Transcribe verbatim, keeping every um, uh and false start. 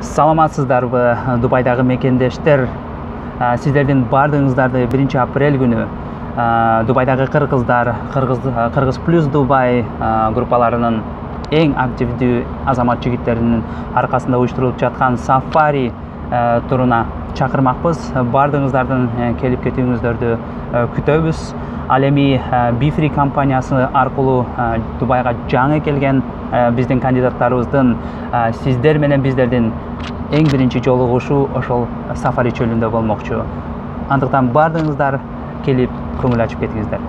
Саламатсыздарбы, Дубайдагы мекендештер. Сиздердин бардыгыңыздарды биринчи апрель күнү Дубайдагы кыргыздар, Кыргыз плюс Дубай группаларынын эң активдүү азамат жигиттеринин аркасында уюштурулуп жаткан сафари туруна чакырмакпыз. Бардыгыңыздардын келип кетүүңүздөрдү күтөбүз. Ал эми Бифри компаниясы аркылуу Дубайга жаңы келген биздин кандидаттарыбыздын сиздер менен биздердин эң биринчи жолугушуу ошол сафари чөлүндө болмокчу. Андыктан бардыгыңыздар келип көңүл ачып кетиңиздер.